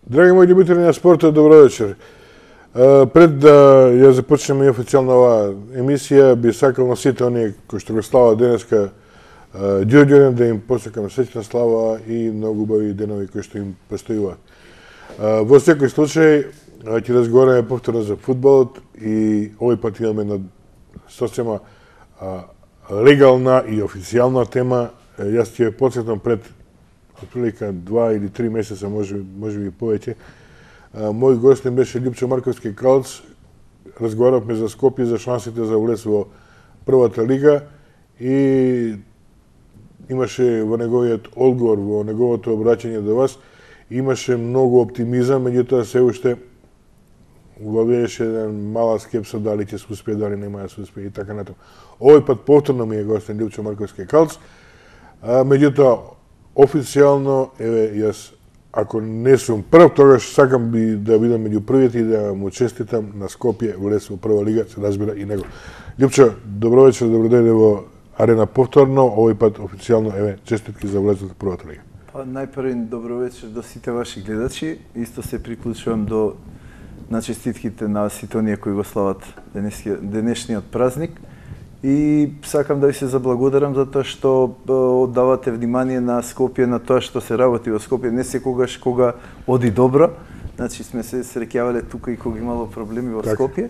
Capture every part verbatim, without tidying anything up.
Драги мои љубители на спортот, добро вечер. Пред да ја започнеме официјално оваа емисија, би сакал на сите оние кои што го слават денеска Ѓурѓевден да им посакам среќна слава и многу убави денови кои што им престојуваат. Во секој случај ќе разговараме повторно за фудбалот и овој пат имаме на сосема легална и официјална тема. Јас ќе ја потсетам пред отприлика два или три месеца, може може би повеќе. Мој гостин беше Љупчо Марковски Калц. Разговаравме за Скопје, за шансите за улез во првата лига и имаше во неговиот одговор, во неговото обраќање до вас, имаше многу оптимизам, меѓутоа се уште владееше еден мала скепса дали ќе се успее, дали нема да се успее и така натаму. Овој пат повторно ми е гостин Љупчо Марковски Калц, меѓутоа официјално, еве, јас, ако не сум прв, тогаш сакам би да бидам меѓу првите и да му честитам на Скопје влез во прва лига, се разбира и него. Љупчо, добро вечер, добро дојде во Арена повторно, овој пат официјално, еве, честитки за влезот во првата лига. Па најпрво добро вечер до сите ваши гледачи. Исто се приклучувам до на честитките на сите оние кои го слават денешниот празник. И сакам да ви се заблагодарам за тоа што оддавате внимание на Скопје, на тоа што се работи во Скопје. Не секогаш кога оди добро, значи сме се среќавале тука и кога имало проблеми во Скопје.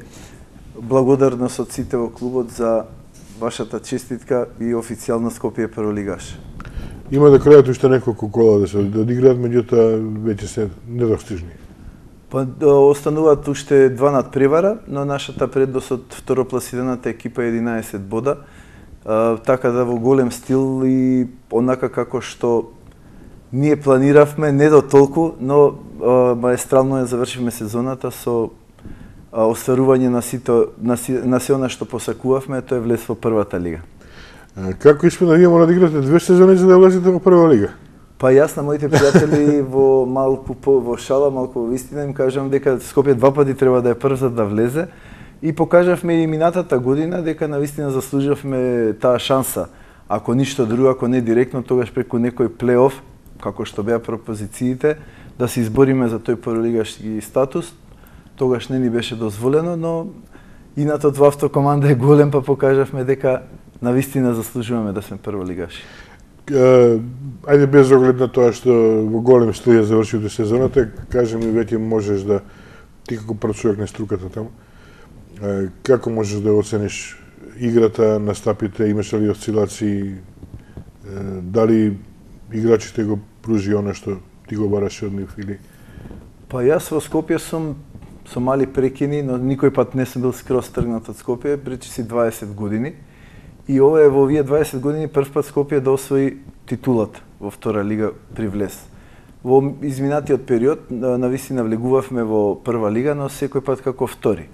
Благодарност од сите во клубот за вашата честитка и официјално Скопје прволигаш. Има да крајат уште неколку кола да се одиграат, меѓутоа веќе се недостижни. Па остануваат уште два надпревара, но нашата предност од второпласираната екипа е единаесет бода. А, така да во голем стил и онака како што ние планиравме, не до толку, но а, маестрално ја завршивме сезоната со а, остварување на сите на, на се она што посакувавме, тоа е влез во првата лига. А, како испина вие мора да играте две сезони за да влезете во прва лига? Па јас на моите пријатели во малку по, во шала, малку во вистина им кажам дека Скопје два пати треба да е прв за да влезе и покажавме и минатата година дека навистина заслуживме таа шанса. Ако ништо друго, ако не директно, тогаш преку некој плей-оф, како што беа пропозициите, да се избориме за тој прволигашки статус. Тогаш не ни беше дозволено, но инатот во автокоманда е голем, па покажавме дека навистина заслужуваме да сме прволигаши. Uh, ајде без оглед на тоа што во голем стил ја завршите сезоната, кажи ми веќе можеш да, ти како прв човек на струката таму, uh, како можеш да оцениш играта, настапите, имаше ли осцилации, uh, дали играчите го пружи оно што ти го бараше од нив или? Па јас во Скопје сум со мали прекини, но никој пат не сум бил скроз тргнат од Скопје, пречи си дваесет години. И ова е во овие дваесет години прв пат Скопје да освои титулата во втора лига при влез. Во изминатиот период навистина влегувавме во прва лига, но секој пат како втори.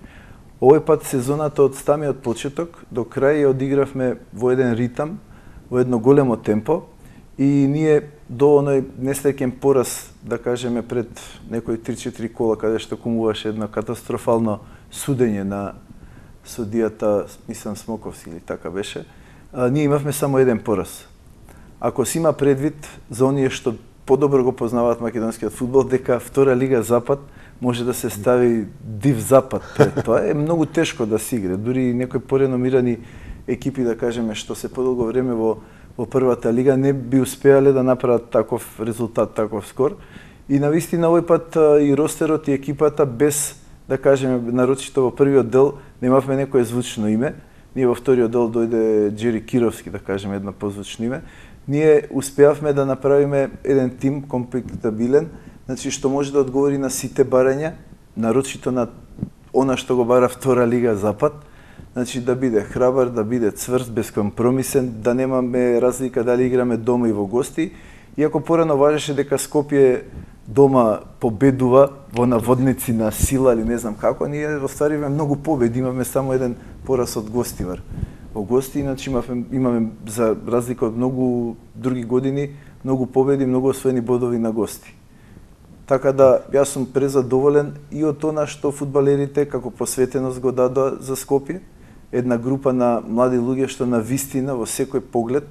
Овој пат сезоната од самиот почеток до крај ја одигравме во еден ритам, во едно големо темпо и ние до оној несреќен пораз, да кажеме пред некои три-четири кола каде што кумуваше едно катастрофално судење на судијата, мислам Смоковски или така беше, а, ние имавме само еден пораз. Ако си има предвид за оние што подобро го познаваат македонскиот фудбал, дека втора лига Запад може да се стави див Запад пред тоа, е многу тешко да се игра. Дури некои пореномирани екипи, да кажеме, што се подолго време во, во првата лига, не би успеале да направат таков резултат, таков скор. И навистина овој пат и ростерот и екипата без, да кажеме, нарочито во првиот дел немавме некое звучно име. Ние во вториот дел дојде Джери Кировски, да кажеме, едно позвучно име. Ние успеавме да направиме еден тим комплектабилен, значи што може да одговори на сите барања, нарочито на она што го бара втора лига Запад. Значи да биде храбар, да биде цврст, безкомпромисен, да немаме разлика дали играме дома и во гости. Иако порано важеше дека Скопје дома победува во наводници на сила или не знам како, ние остваривме многу победи, имаме само еден пораз од гостивар. Во гости, иначе имаме, имаме за разлика од многу други години, многу победи, многу освоени бодови на гости. Така да, јас сум презадоволен и од тоа што фудбалерите како посветеност го дадоа за Скопје, една група на млади луѓе што на вистина во секој поглед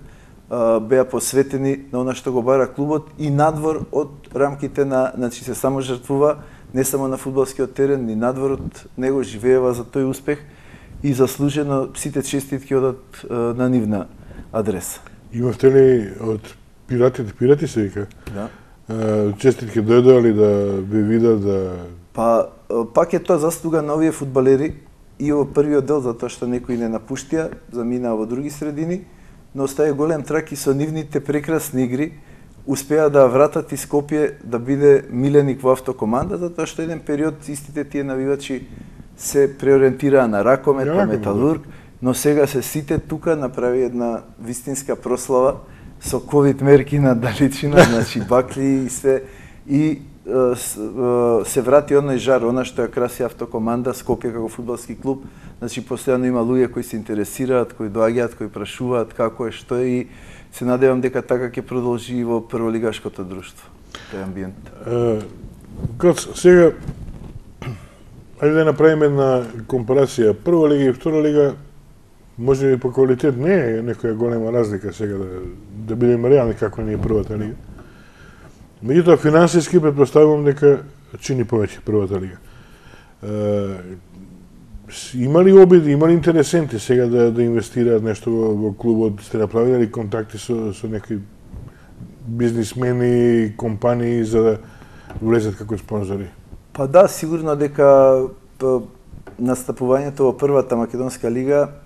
беа посветени на она што го бара клубот и надвор од рамките на, значи се само жртвува не само на фудбалскиот терен, ни надвор од него живеева за тој успех и заслужено сите честитки одат на нивна адреса. Имавте ли од пиратите, пирати се вика? Да. Честитки дојдоа да ви видат да... Па, пак е тоа заслуга на овие фудбалери и во првиот дел, затоа што некои не напуштија, заминаа во други средини, но остави голем трак и со нивните прекрасни игри успеа да вратат и Скопје да биде миленик во автокоманда, затоа што еден период истите тие навивачи се преориентираа на ракомет, на металург, но сега се сите тука направи една вистинска прослава со ковид мерки на далечина, значи бакли и све, и се врати оној жар, она што ја краси автокоманда, Скопје како фудбалски клуб, значи постојано има луѓе кои се интересираат, кои доаѓаат, кои прашуваат како е, што е и се надевам дека така ќе продолжи и во прволигашкото друштво, тој амбиент. Кац, сега, ајде да направиме една компарација. Прва лига и втора лига, може би по квалитет не е некоја голема разлика сега да, да бидеме реални како не е првата лига. Меѓутоа, финансиски предпоставувам дека чини повеќе првата лига. Е, има ли обиди, има ли интересенти сега да, да инвестираат нешто во, во клубот? Сте направили ли контакти со, со некои бизнисмени, компании за да влезат како спонзори? Па да, сигурно дека настапувањето во првата македонска лига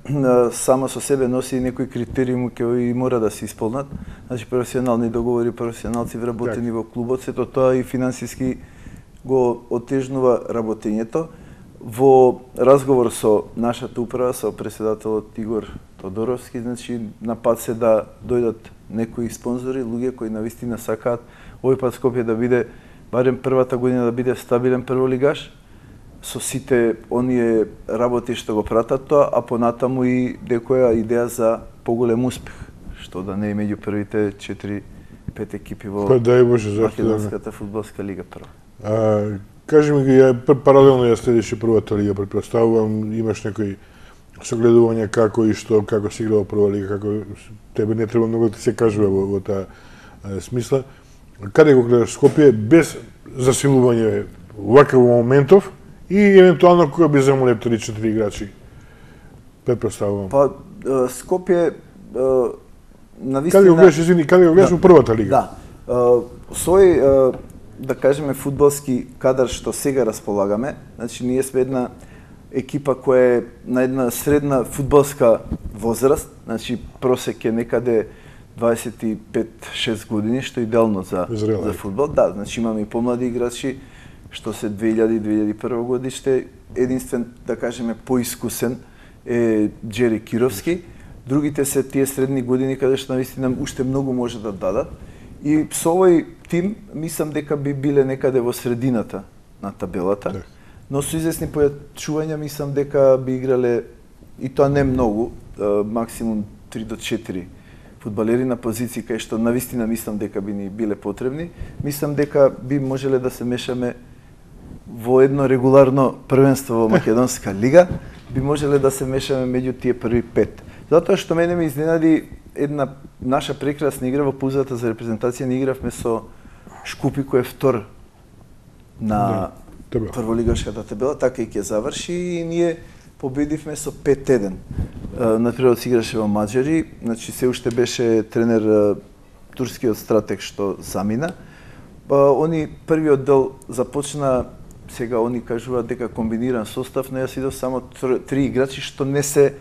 само со себе носи некои критериуми кои мора да се исполнат. Значи професионални договори, професионалци вработени во клубот, сето тоа и финансиски го отежнува работењето. Во разговор со нашата управа, со претседателот Игор Тодоровски, значи на пат се да дојдат некои спонзори, луѓе кои навистина сакаат овој пат Скопје да биде барем првата година да биде стабилен прволигаш, со сите оние работи што го пратат тоа, а понатаму и некоја идеја за поголем успех, што да не е меѓу првите четири-пет екипи во па, дај Боже, македонската фудбалска лига прва. А, кажи ми ги, ја паралелно ја следиш и првата лига, претпоставувам, имаш некои согледување како и што, како се игра во прва лига, како тебе не треба многу да се кажува во, во таа смисла. Каде го гледаш Скопје без засилување ваков моментов и евентуално кога би замоле три-четири играчи? Предпоставувам. Па Скопје навистина... Каде го гледаш, извини, каде го гледаш во првата лига? Да. Сој, да кажеме, фудбалски кадар што сега располагаме, значи ние сме една екипа која е на една средна фудбалска возраст, значи просек е некаде дваесет и пет-шест години, што е идеално за, за фудбал. Да, значи имаме и помлади играчи, што се две илјади - две илјади и прва годиште, единствен, да кажеме, поискусен е Джери Кировски. Другите се тие средни години каде што навистина уште многу може да дадат. И со овој тим, мислам дека би биле некаде во средината на табелата, так. Но со известни појачувања мислам дека би играле, и тоа не многу, максимум три до четири фудбалери на позиции кај што навистина мислам дека би ни биле потребни. Мислам дека би можеле да се мешаме во едно регуларно првенство во Македонска лига, би можеле да се мешаме меѓу тие први пет. Затоа што мене ме изненади една наша прекрасна игра во паузата за репрезентација, ни игравме со Шкупи кој е втор на да, прволигашката табела, така и ќе заврши и ние победивме со пет еден. Натпреварот се играше во Маđари, значи се уште беше тренер турскиот стратег што замина. Они првиот дел започна, сега они кажуваат дека комбиниран состав, но јас идов само три играчи што не се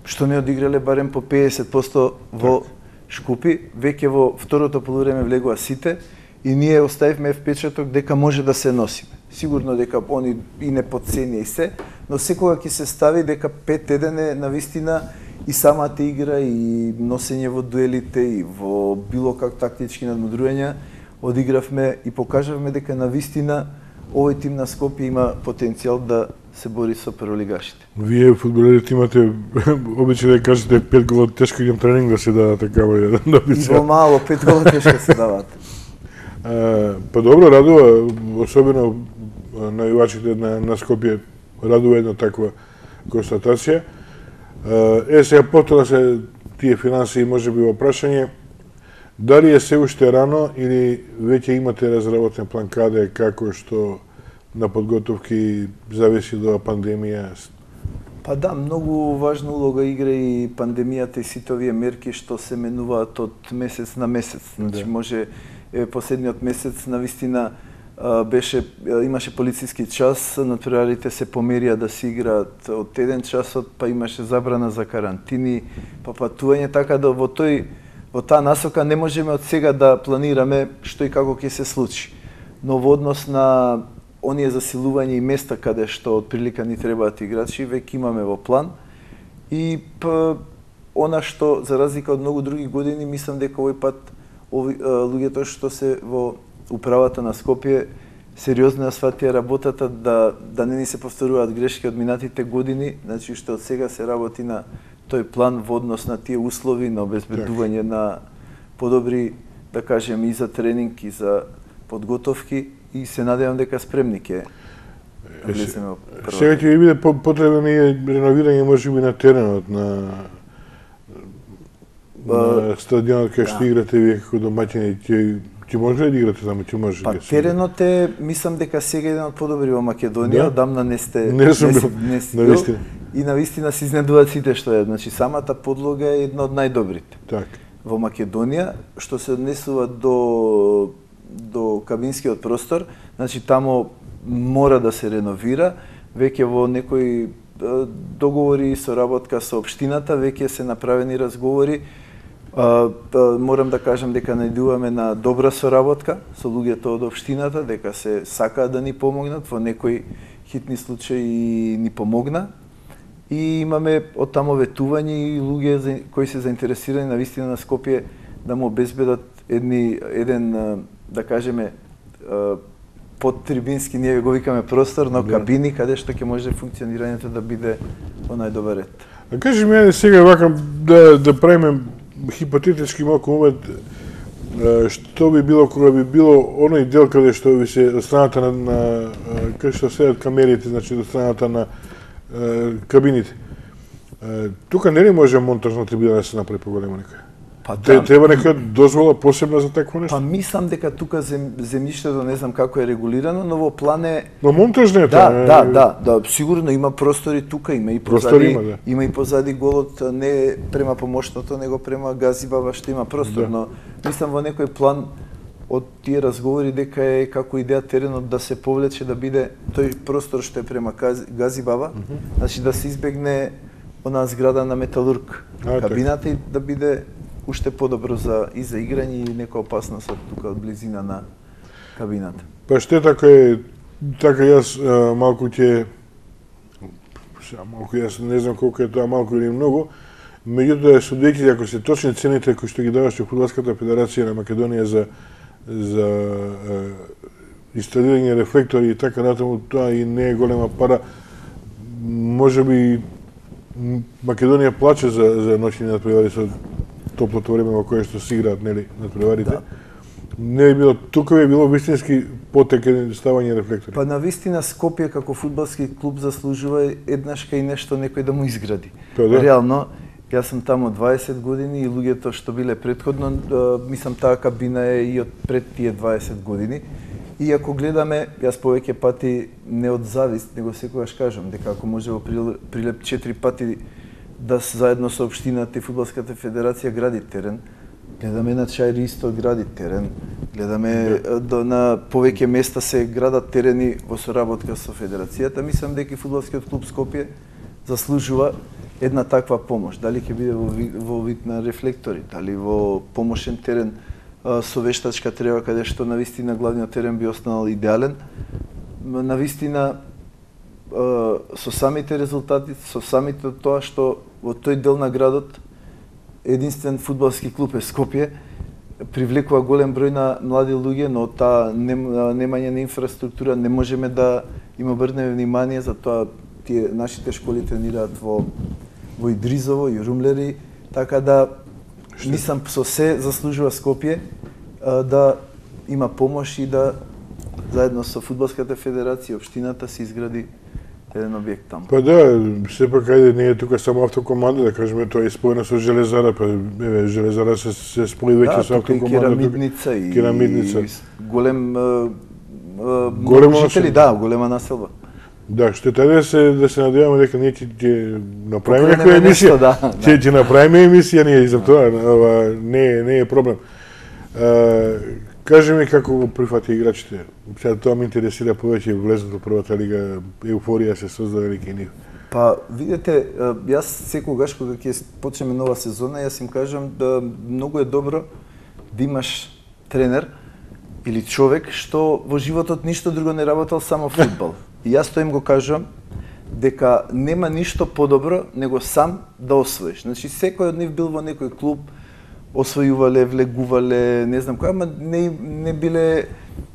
што не одиграле барем по педесет проценти во Шкупи. Веќе во второто полувреме влегува сите и ние оставивме впечаток дека може да се носиме. Сигурно дека они и не подценија и се, но секога ќе се стави дека пет еден е навистина и самата игра и носење во дуелите и во било как тактички надмудрувања одигравме и покажавме дека навистина овој тим на Скопје има потенцијал да се бори со прволигашите. Вие фудбалерите имате обичај да кажете пет гола тешко идем тренинг да се дадат такава да добица. Во мало пет гола тешко се дават. Па добро, радува, особено навивачите на, на Скопје, радува една таква констатација. Е, сега потоа се тие финансии може би во прашање, Дали е се уште рано или веќе имате разработен план каде, како, што на подготовки зависи до пандемија? Па да, многу важна улога игра и пандемијата и сите овие мерки што се менуваат од месец на месец. Значи, да. може е, последниот месец навистина беше имаше полициски час, натпреварите се померија да се играат од еден часот, па имаше забрана за карантини, па патување, така да во тој во таа насока не можеме од сега да планираме што и како ќе се случи. Но во однос на оние засилување и места каде што од прилика ни требаат играчи, веќе имаме во план. И п, она што за разлика од многу други години, мислам дека овој пат ови, луѓето што се во управата на Скопје сериозно ја сватија работата да да не ни се повторуваат грешки од минатите години, значи што од сега се работи на тој план во однос на тие услови на обезбедување на подобри, да кажем, и за тренинг и за подготовки, и се надевам дека спремни ќе влеземе во прва. Сега ќе ви биде потребно и реновирање можеби на теренот, на на стадионот кај што играте вие како домаќини. Ќе ќе може ли да играте таму? Ќе може. Па теренот е, мислам дека сега еден од подобри во Македонија, одамна не сте не сум бил, навистина. И навистина се изненадуваат сите што е. Значи самата подлога е една од најдобрите. Так. Во Македонија, што се однесува до до кабинскиот простор, значи тамо мора да се реновира, веќе во некои договори и соработка со општината, веќе се направени разговори. А, морам да кажам дека најдуваме на добра соработка со луѓето од општината, дека се сакаат да ни помогнат, во некои хитни случаи ни помогна. И имаме од таму ветување и луѓе кои се заинтересирани на вистина на Скопје да му обезбедат едни, еден, да кажеме, подтрибински, ние го викаме простор, но кабини каде што ќе може функционирањето да биде во најдобар ред. А кажи ми сега вака да да правиме хипотетички малку момент, што би било кога би било оној дел каде што ви се од страната на, на каде што седат камерите, значи од страната на е, кабините. Е, тука нели може монтажна трибина да се направи поголема некоја? Па да, треба некоја дозвола посебна за такво нешто? Па мислам дека тука зем, земјиштето не знам како е регулирано, но во план е... Но монтажна е да, да, да, да, да, сигурно има простори тука, има и позади, има, да. има и позади голот, не према помошното, него према Газибаба што има простор, да. Но мислам во некој план од тие разговори дека е како идеја теренот да се повлече, да биде тој простор што е према Газибаба, mm -hmm. значи да се избегне онаа зграда на Металург, а, кабината, и да биде уште подобро за и за играње и нека опасност од тука од близина на кабината. Па штета кој така јас а, малку ќе малку јас не знам колку е тоа малку или многу, меѓутоа судејќи ако се точни цените кои што ги даваше Фудбалската федерација на Македонија за за а, инсталирање рефлектори и така натаму, тоа и не е голема пара. Можеби Македонија плаче за за ноќни натпревари со топлото време во кое што се играат, нели, натпреварите. Да. Не е било, тука е било вистински потек ставање рефлектори. Па навистина Скопје како фудбалски клуб заслужува еднаш кај нешто некој да му изгради. Па, да. Реално, јас сум таму дваесет години и луѓето што биле претходно, мислам таа кабина е и од пред тие дваесет години. И ако гледаме, јас повеќе пати не од завист, него секогаш кажам дека ако може во Прилеп четири пати да заедно со општината и Фудбалската федерација гради терен, гледаме на Чаир исто гради терен, гледаме до, на повеќе места се градат терени во соработка со федерацијата. Мислам дека Фудбалскиот клуб Скопје заслужува една таква помош. Дали ќе биде во, во вид на рефлектори, дали во помошен терен со вештачка трева, каде што навистина главниот терен би останал идеален. Навистина со самите резултати, со самите тоа што во тој дел на градот единствен фудбалски клуб е Скопје, привлекува голем број на млади луѓе, но таа немање на инфраструктура не можеме да им обрнеме внимание, за тоа тие нашите школи тренираат во во Идризово и Румлери, така да мислам со се заслужува Скопје да има помош и да заедно со Фудбалската федерација и општината се изгради еден објект таму. Па да, сепак ајде не е тука само автокоманда, да кажеме тоа е споено со Железара, па еве Железара се се спои веќе да, со автокоманда. Да, керамидница и керамидница. И голем голема жители, да, голема населба. Да, што е да се да се надеваме дека ние ќе направиме некоја емисија. Да, ќе ќе направиме емисија ние и за тоа, ова не не е проблем. Кажи ми како го прифати играчите. Сега тоа ме интересира повеќе, влезот во првата лига, еуфорија се создаде кај нив. Па, видите, јас секогаш кога ќе почнеме нова сезона, јас им кажам да многу е добро да имаш тренер или човек што во животот ништо друго не работел, само фудбал. И јас тоа им го кажам дека нема ништо подобро него сам да освоиш. Значи секој од нив бил во некој клуб, освојувале, влегувале, не знам која, ама не, не биле,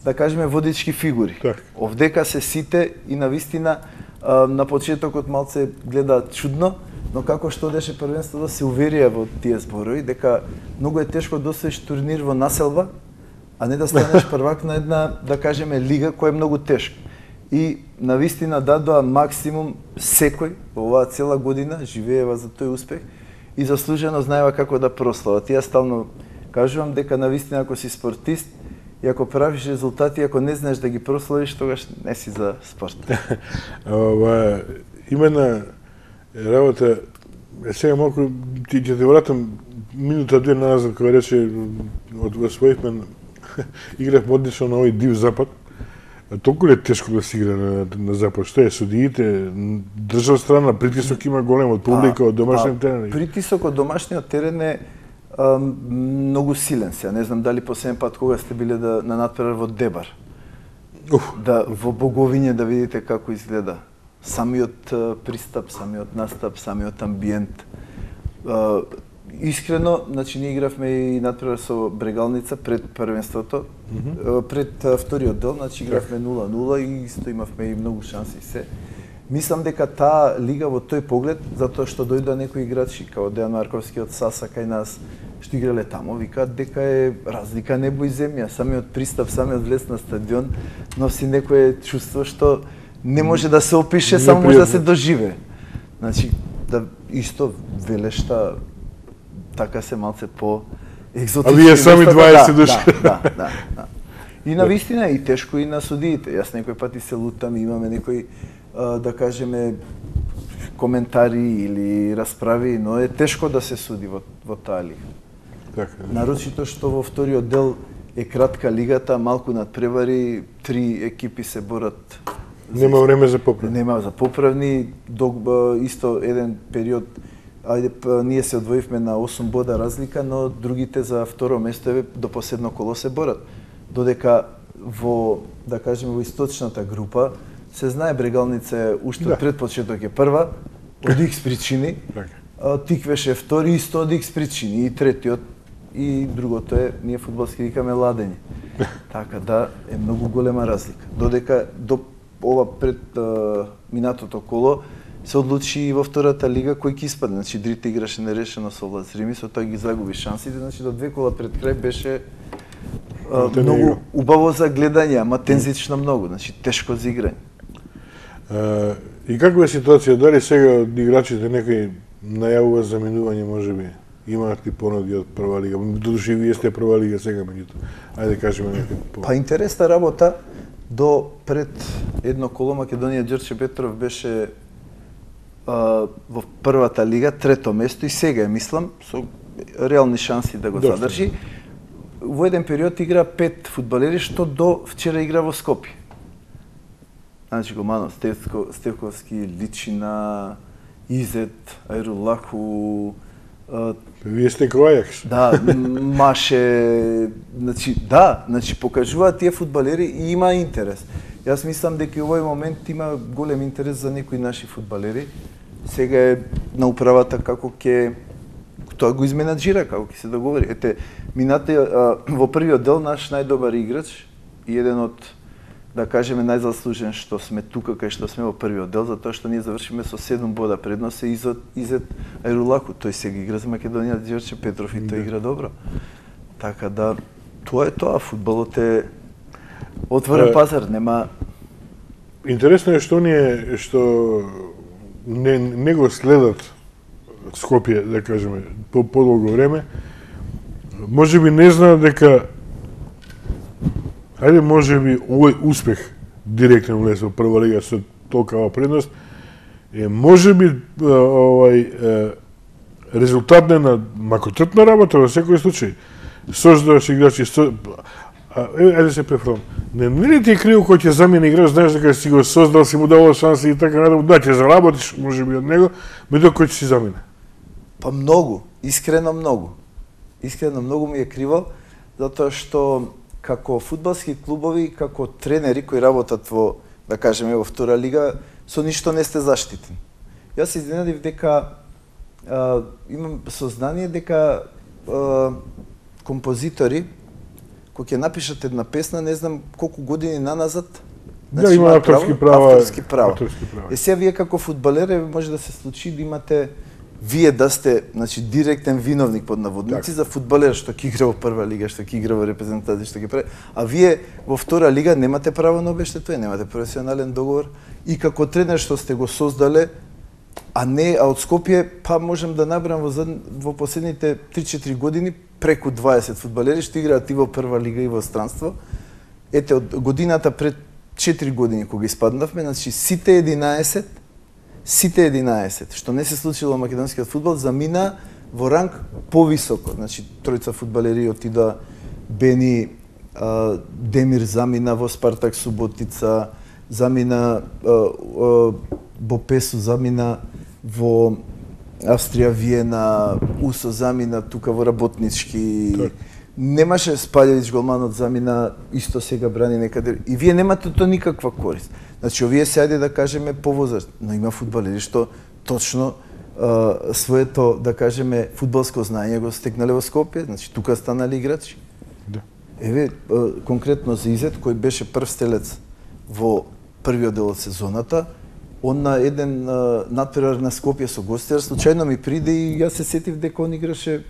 да кажеме, водички фигури. Так. Овдека се сите и навистина на почетокот малце гледаат чудно, но како што одеше првенството се уверија во тие зборови дека многу е тешко да освоиш турнир во населба, а не да станеш првак на една, да кажеме, лига која е многу тешка. И навистина дадоа максимум секој во оваа цела година, живеева за тој успех и заслужено знаева како да прослават. Ја стално кажувам дека навистина ако си спортист и ако правиш резултати, ако не знаеш да ги прославиш, тогаш не си за спорт. Ова има една работа, сега малку ти ќе те вратам минута две назад кога рече од освоивме игравме одлично на овој див запад. Толку ли е тешко да се игра на, на запад? Што е, судиите, држав страна, притисок има голем од публика, од домашниот терен? Притисок од домашниот терен е а, многу силен се. Не знам дали последен пат кога сте биле да, на натпревар во Дебар. Уф. Да, во Боговиње да видите како изгледа. Самиот а, пристап, самиот настап, самиот амбиент. А, Искрено, значи ние игравме и натпревар со Брегалница пред првенството, mm -hmm. пред а, вториот дел, значи игравме нула нула и исто имавме и многу шанси се. Мислам дека таа лига во тој поглед, затоа што дојдоа некои играчи, као Дејан Марковски од Саса кај нас, што играле таму, викаат дека е разлика небо и земја. Самиот пристап, самиот влез на стадион носи некое чувство што не може да се опише, само може да се доживее. Значи, да исто велешта така се малце по екзотични. А вие сами дваесет души. Да, да, да, да. И на вистина и тешко и на судиите. Јас некој пати се лутам и имаме некои, да кажеме, коментари или расправи, но е тешко да се суди во, во таа лига. Така. Нарочито што во вториот дел е кратка лигата, малку надпревари, три екипи се борат. Нема време за поправни. Нема за поправни, док, исто еден период. Ајде, ние се одвоивме на осум бода разлика, но другите за второ место еве до последно коло се борат. Додека во, да кажеме, во источната група се знае Брегалница е уште да. Пред почеток е прва, од икс причини, Тиквеш е втори, исто од икс причини, и третиот, и другото е, ние фудбалски викаме ладење. Така да е многу голема разлика. Додека до ова пред а, минатото коло се одлучи и во втората лига кој ќе испадне. Значи Дрита играше нерешено со Влад Рими, со тоа ги загуби шансите, значи до две кола пред крај беше а, многу убаво за гледање, ама тензично многу, значи тешко за играње. А, и каква е ситуација? Дали сега од играчите некој најавува за минување, можеби? Имаат ли понуди од прва лига? Додуши вие сте прва лига сега меѓутоа. Ајде кажеме некој по... Па интересна работа до пред едно коло Македонија Ѓорче Петров беше во првата лига, трето место и сега е, мислам, со реални шанси да го Доста. задржи. Во еден период игра пет фудбалери, што до вчера игра во Скопје. Значи Гомано Стевко, Стевковски, Личина, Изет, Ајрулаху, Вие сте кој Да, Маше, значи да, значи покажуваат тие фудбалери и има интерес. Јас мислам дека овој момент има голем интерес за некои наши фудбалери. Сега е на управата како ќе тоа го изменаџира, како ќе се договори. Ете, минате во првиот дел наш најдобар играч и еден од, да кажеме, најзаслужен што сме тука кај што сме во првиот дел, затоа што ние завршиме со седум бода предност е Изет, Изет Ајрулаку. Тој сега игра за Македонија Ѓорче Петров и тој игра добро. Така да тоа е тоа, фудбалот е отворен пазар, нема интересно е што ние што не, не го следат Скопје, да кажеме, по подолго време. Може би не знаат дека ајде може би овој успех директен влез во прва лига со толкава предност е може би овај резултат на макотрпна работа во секој случај. Создаваш играчи, со... ајде се префрон. Не, не ли ти е криво кој ќе замени играч, знаеш дека си го создал, си му давал шанси и така натаму, да ќе заработиш може би од него, меѓутоа кој ќе си замени? Па многу, искрено многу. Искрено многу ми е криво, затоа што како фудбалски клубови, како тренери кои работат во, да кажеме, во втора лига, со ништо не сте заштитени. Јас се изненадив дека а, имам сознание дека а, композитори кои ќе напишат една песна, не знам колку години наназад, значи, да, има авторски права. Авторски права. Авторски права. Е сега вие како фудбалери може да се случи да имате вие да сте, значи, директен виновник под наводници за фудбалер што ќе игра во прва лига, што ќе игра во репрезентација, што ќе прави, а вие во втора лига немате право на обештетување, немате професионален договор и како тренер што сте го создале, а не а од Скопје, па можем да набрам во во последните три-четири години преку дваесет фудбалери што играат и во прва лига и во странство. Ете од годината пред четири години кога испаднавме, значи сите единаесет сите единаесет, што не се случило во македонскиот фудбал, замина во ранг повисоко. Значи, тројца фудбалери отида, Бени, а, Демир замина во Спартак Суботица, замина а, а, Бопесу, замина во Австрија Виена, Усо замина тука во Работнички. Так. Немаше Спалјевич голманот замина, исто сега брани некаде. И вие немате то никаква корист. Значи, овие се ајде да кажеме повозрастни, но има фудбалери што точно а, своето, да кажеме, фудбалско знаење го стекнале во Скопје, значи тука станали играчи. Да. Еве, а, конкретно за Изет, кој беше прв стрелец во првиот дел од сезоната, он на еден а, надпревар на Скопје со гостер, случајно ми приде и јас се сетив дека он играше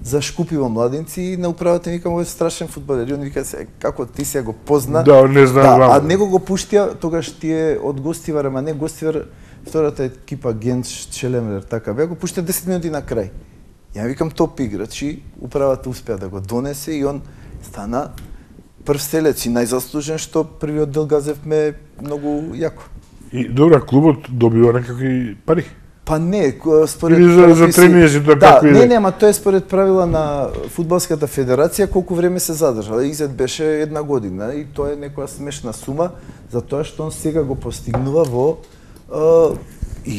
за Шкупи во Младинци и на управата ми викам, овој страшен фудбалер. И он вика се, како ти се го позна. Да, не знам. Да, а него го пуштија, тогаш тие од Гостивар, ама не Гостивар, втората екипа Генц Челемер, така беа, го пуштија десет минути на крај. Ја викам топ играч и управата успеа да го донесе и он стана прв стрелец и најзаслужен што првиот дел газевме многу јако. И добра, клубот добива некакви пари? Па не, според или за, за тренинзи да, да, како не, иде? не, ама тоа е според правила на фудбалската федерација колку време се задржала. Изет беше една година и тоа е некоја смешна сума затоа што он сега го постигнува во е,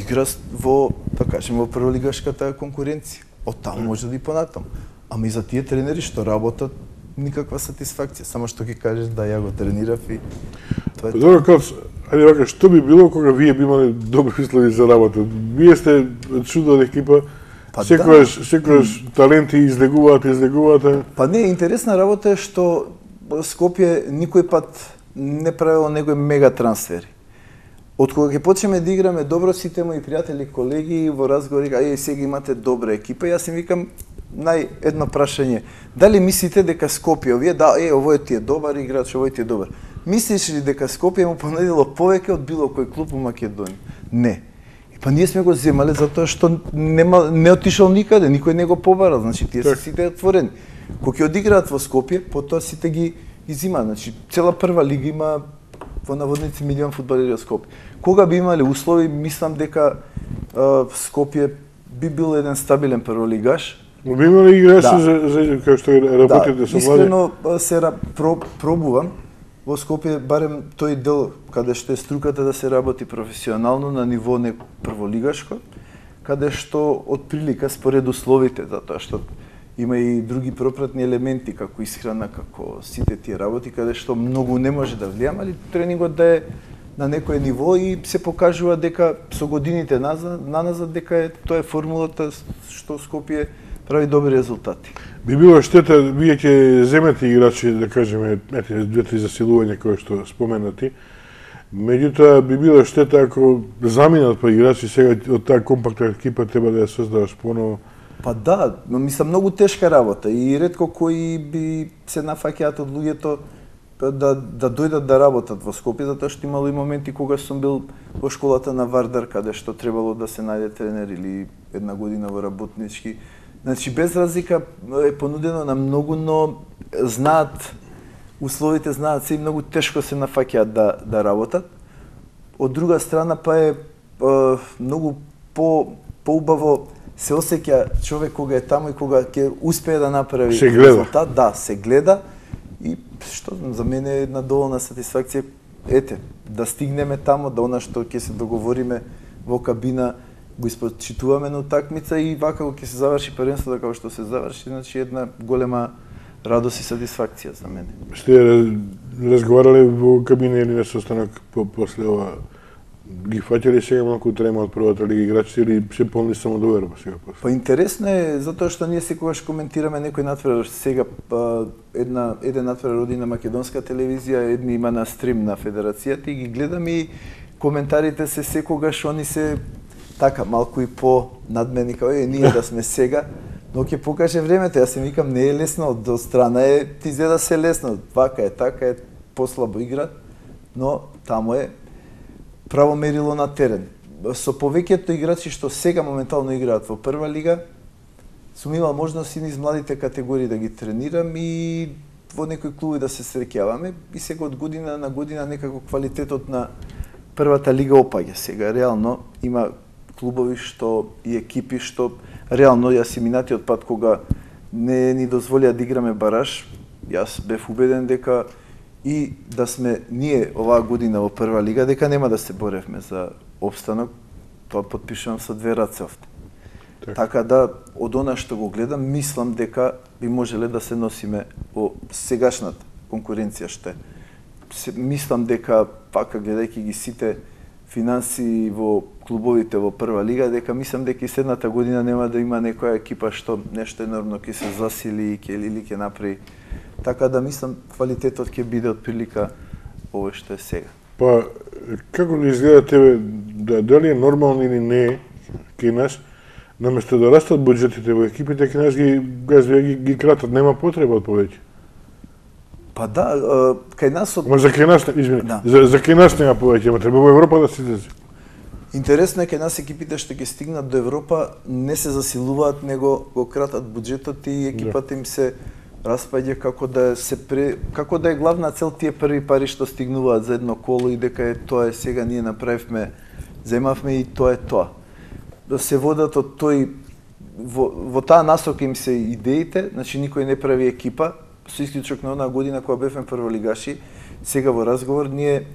игра во, да кажем, во прволигашката конкуренција. Од таму може да и понатаму. Ама и за тие тренери што работат никаква сатисфакција, само што ќе кажеш да ја го тренирав и тоа е. Добро, Кац, ајде вака, што би било кога вие би имале добри услови за работа? Вие сте чудна екипа, па секојаш, да. секојаш таленти излегуваат, излегуваат. Па не, интересна работа е што Скопје никој пат не правило некои мега трансфери. Од кога ќе почнеме да играме добро, сите мои пријатели, колеги во разговори, ај сега имате добра екипа, јас им викам нај едно прашање. Дали мислите дека Скопје, овие, да, е, овој ти е добар играч, овој ти е добар. Мислиш ли дека Скопје му понудило повеќе од било кој клуб во Македонија? Не. И па ние сме го земале затоа што нема не отишол никаде, никој не го побарал, значи тие се сите отворени. Кога ќе одиграат во Скопје, потоа сите ги изимаат, значи цела прва лига има во наводници милион фудбалери од Скопје. Кога би имале услови, мислам дека uh, Скопје би бил еден стабилен прволигаш. Но би имале играчи да. за, за како што работите да, со млади? Искрено се про, пробувам во Скопје, барем тој дел каде што е струката да се работи професионално на ниво не прволигашко, каде што од прилика според условите, затоа што има и други пропратни елементи како исхрана, како сите тие работи каде што многу не може да влијам, али тренингот да е на некое ниво и се покажува дека со годините назад, наназад дека е тоа е формулата што Скопје прави добри резултати. Би било штета, вие ќе земете играчи, да кажеме, ете, две-три засилувања кои што споменати, меѓутоа би било штета ако заминат по играчи сега од таа компактна екипа треба да ја создаваш поново. Па да, но мислам многу тешка работа и ретко кои би се нафаќаат од луѓето да да дојдат да работат во Скопје, затоа што имало и моменти кога сум бил во школата на Вардар, каде што требало да се најде тренер или една година во работнички. Значи без разлика е понудено на многу, но знаат условите, знаат се и многу тешко се нафаќаат да да работат. Од друга страна па е, е многу по поубаво се осеќа човек кога е таму и кога ќе успее да направи резултат, да, се гледа и што за мене е една доволна сатисфакција, ете, да стигнеме тамо, да она што ќе се договориме во кабина го испочитуваме на утакмица и вака кога ќе се заврши првенството како што се заврши, значи една голема радост и сатисфакција за мене. Сте разговарале во кабина или на состанок по после ова? Ги фаќали сега малку трема од првата лига играчи или се полни самодоверба сега после? Па интересно е затоа што ние секогаш коментираме некој натпревар, сега па, една еден натпревар оди на македонска телевизија, едни има на стрим на федерацијата и ги гледам и коментарите се секогаш они се така малку и по надмени како е ние да сме сега, но ќе покаже времето. Јас се викам не е лесно, од страна е ти изгледа се лесно, вака е, така е, послабо игра, но таму е право мерило на терен. Со повеќето играчи што сега моментално играат во прва лига, сум имал можност и низ младите категории да ги тренирам и во некои клуби да се среќаваме и сега од година на година некако квалитетот на првата лига опаѓа. Сега реално има клубови што и екипи што реално јас и минатиот пат кога не ни дозволија да играме бараж, јас бев убеден дека и да сме ние оваа година во прва лига, дека нема да се боревме за опстанок, тоа потпишувам со две раце овде. Так. Така да, од она што го гледам, мислам дека би можеле да се носиме во сегашната конкуренција што е. Мислам дека, пака гледајќи ги сите финанси во клубовите во прва лига, дека мислам дека и следната година нема да има некоја екипа што нешто енормно ќе се засили ќе или ќе направи. Така да мислам квалитетот ќе биде од прилика ово што е сега. Па како ли изгледа тебе, да, дали е нормално или не кај нас, наместо да растат буџетите во екипите, кај нас ги газви ги, ги кратат, нема потреба од повеќе? Па да, кај нас од... Ма за кај нас, извини, да. за, за кај нас нема повеќе, ма треба во Европа да се излезе. Интересно е кај нас екипите што ќе стигнат до Европа не се засилуваат, него го кратат буџетот и екипата да. Им се распаѓа како да се пре... како да е главна цел тие први пари што стигнуваат за едно коло и дека е тоа е сега ние направивме, земавме и тоа е тоа. Да се водат од тој во, во таа насока им се идеите, значи никој не прави екипа, со исклучок на онаа година кога бевме прволигаши, сега во разговор ние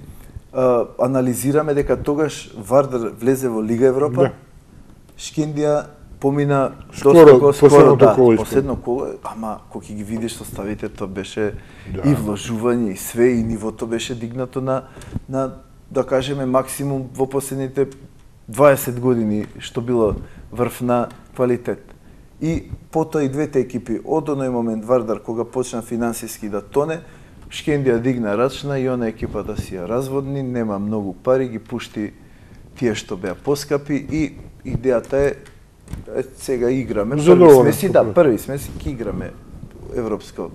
а, анализираме дека тогаш Вардар влезе во Лига Европа, да. Шкендија помина скоро, доста скоро, да, коло последно коло, ама кога ќе ги видиш составите, тоа беше да. И вложување и све и нивото беше дигнато на на да кажеме максимум во последните дваесет години што било врв на квалитет. И потоа и двете екипи од оној момент Вардар кога почна финансиски да тоне, Шкендија дигна рачна и она екипа да си ја разводни, нема многу пари, ги пушти тие што беа поскапи и идејата е Е, сега играме, први сме си, да, први сме си, ки играме европско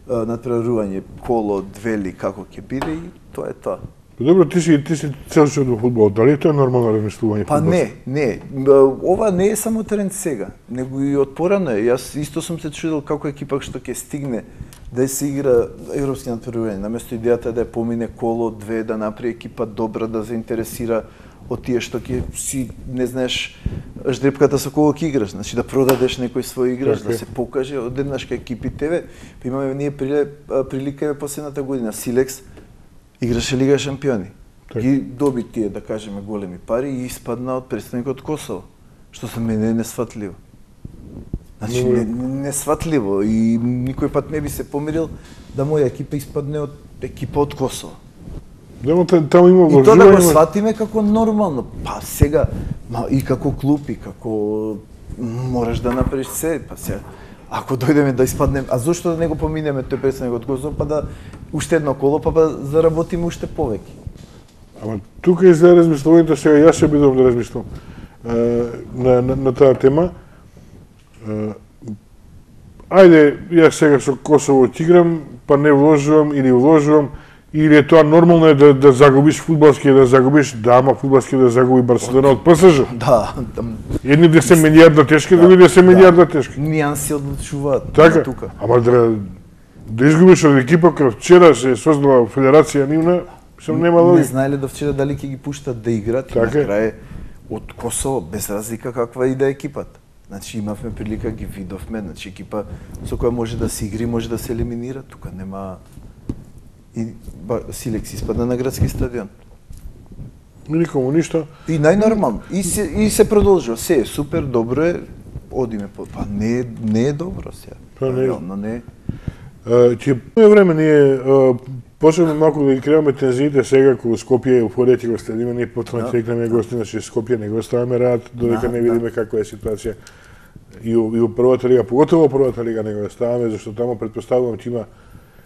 натпреварување, коло, двели, како ќе биде и тоа е тоа. Добро, ти си, ти си цел живот во фудбал, дали тоа е нормално размислување? Па не, не, ова не е само тренд сега, него и од порано е. Јас исто сум се чудел како екипа што ќе стигне да се игра европски натпреварување, наместо идејата да ја помине коло, две, да направи екипа добра, да заинтересира од тие што ќе си не знаеш ждрепката со кого ќе играш, значи да продадеш некој свој играч, okay. Да се покаже одеднаш кај екипи тебе. Имаме ние прилика последната година Силекс играше Лига шампиони. Okay. Ги доби тие да кажеме големи пари и испадна од претставникот Косово, што за мене е несфатливо. Значи не, несфатливо и никој пат не би се помирил да моја екипа испадне од екипа од Косово. Демо таму има вложување. И тоа да го сватиме како нормално. Па сега, ма и како клуб и како мораш да направиш се, па сега ако дојдеме да испаднеме, а зошто да не го поминеме тој претставник од Косово, па да уште едно коло, па да заработиме уште повеќе. Ама тука е за размислувањето, сега јас се обидувам да размислам на, на, на таа тема. ајде, јас сега со Косово ќе играм, па не вложувам или вложувам, или е тоа нормално е да, да загубиш фудбалски, да загубиш, да, ама фудбалски да загуби Барселона од ПСЖ. Да. Едни да се милиарда тешки, други да се милиарда тешки. Нијанси одлучуваат така, тука. Ама да, да изгубиш од екипа која вчера се создала федерација нивна, сум нема логика. Не знаеле до вчера дали ќе ги пуштат да играат и на крај од Косово, без разлика каква и да е екипата. Значи имавме прилика, ги видовме, значи екипа со која може да се игри, може да се елиминира, тука нема и ба, Силекс испадна на градски стадион. Никому ништо. И најнормално. И се и се продолжува. Се е супер, добро е, одиме по. Па не не е добро сега. Па не. Но не. Ќе по време ние почнеме малку да ги креаме тензиите сега кога Скопје и Уфорија ќе го следиме, ние потоа ќе играме гости, значи Скопје не го оставаме рад додека не видиме каква е ситуација. И у, и у првата лига, поготово првата лига не го оставаме, зашто таму претпоставувам ќе има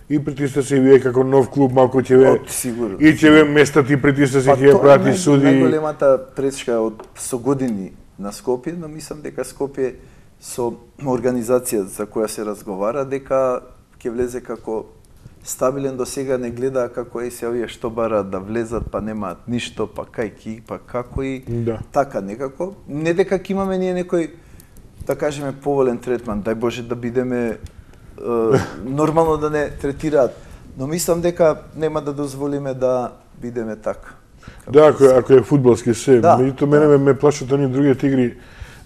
и притисци, и вие како нов клуб малку ќе ве сигурно. И ќе ве местат и притисци ќе ја прати суди. Најголемата пречка од со години на Скопје, но мислам дека Скопје со организација за која се разговара дека ќе влезе како стабилен, до сега не гледа како е се овие што бараат да влезат, па немаат ништо, па кај ки, па како и да. Така некако. Не дека ќе имаме ние некој, да кажеме, поволен третман, дај Боже да бидеме е, нормално да не третираат, но мислам дека нема да дозволиме да бидеме така. Да, ако, ако е фудбалски се, да, меѓутоа мене ме, ме плашат они другите игри,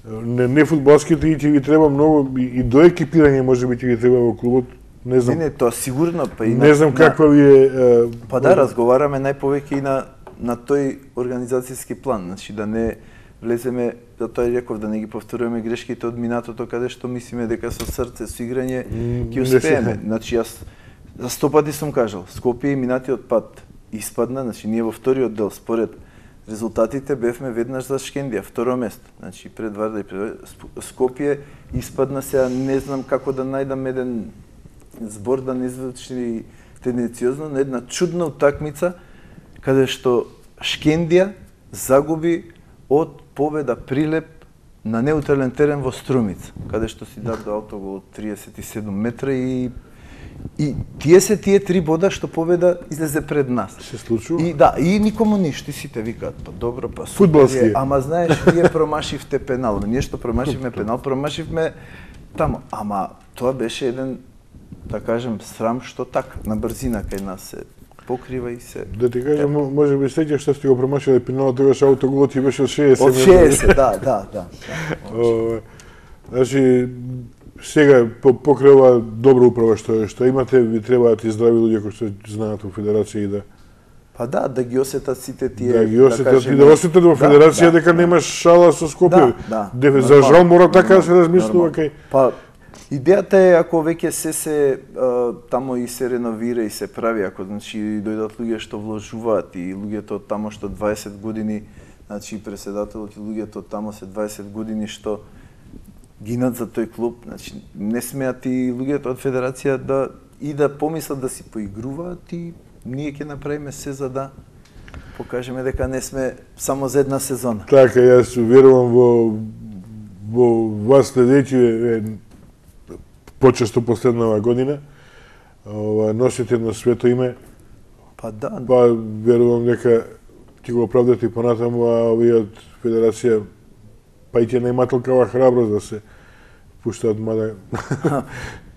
не, не фудбалските и ќе ви треба многу и, и до екипирање можеби ќе ви треба во клубот. Не знам. Не, не, тоа сигурно, па и не на, знам каква ви е... е па да, разговараме најповеќе и на на тој организацијски план, значи да не влеземе, да тој реков да не ги повторуваме грешките од минатото каде што мислиме дека со срце, со играње ќе успееме. Значи јас за сто пати сум кажал, Скопје и минатиот пат испадна, значи ние во вториот дел според резултатите бевме веднаш за Шкендија, второ место. Значи пред Варда и пред Скопје испадна, сега не знам како да најдам еден збор да не звучи тенденциозно, на една чудна утакмица каде што Шкендија загуби од победа Прилеп на неутрален терен во Струмица, каде што си даде автогол од триесет и седум метра и и тие се тие три бода што победа излезе пред нас. Се случува? И да, и никому ништо, сите викаат, па добро, па фудбалски. Ама знаеш, вие промашивте пенал, ние што промашивме пенал, промашивме таму, ама тоа беше еден, да кажем, срам што така, на брзина кај нас се покрива и се... Да ти кажам, може би сеќаш што сте го промашиле пеналот, тогаш автоголот ти беше од шеесет. Од шеесет, да, да, да. О, значи, сега покрај ова добра управа што што имате, ви требаат и здрави луѓе кои што знаат во федерација и да... Па да, да ги осетат сите тие... Да ги осетат и да осетат во федерација да, дека да, немаш шала со Скопје. Да, да. За жал мора така да се размислува кај... Па, идејата е ако веќе се се а, тамо и се реновира и се прави, ако значи дојдат луѓе што вложуваат и луѓето од тамо што дваесет години, значи преседателот и луѓето од тамо се дваесет години што гинат за тој клуб, значи не смеат и луѓето од федерација да и да помислат да си поигруваат и ние ќе направиме се за да покажеме дека не сме само за една сезона. Така, јас верувам во во вас следејќи почесто последнава година. Ова носите на свето име. Па да. Па верувам дека ќе го оправдате и понатаму, а овие од федерација па и ќе не имат толкова храброст да се пуштаат, мада